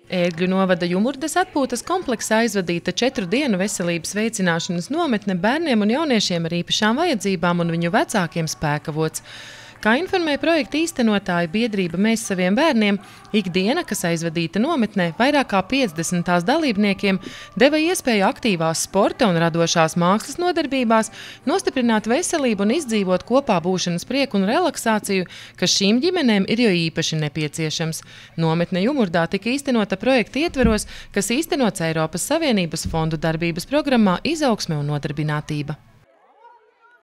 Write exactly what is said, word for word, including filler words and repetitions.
Ērgļu novada Jumurdas atpūtas kompleksā aizvadīta četru dienu veselības veicināšanas nometne bērniem un jauniešiem ar īpašām vajadzībām un viņu vecākiem Spēkavots. Kā informē projekta īstenotāja biedrība Mēs saviem bērniem, ikdiena, kas aizvadīta nometnē, vairāk kā piecdesmit tās dalībniekiem deva iespēju aktīvās sporta un radošās mākslas nodarbībās nostiprināt veselību un izdzīvot kopā būšanas prieku un relaksāciju, kas šīm ģimenēm ir jo īpaši nepieciešams. Nometne Jumurdā tika īstenota projekta ietveros, kas īstenots Eiropas Savienības fondu darbības programmā Izaugsme un nodarbinātība.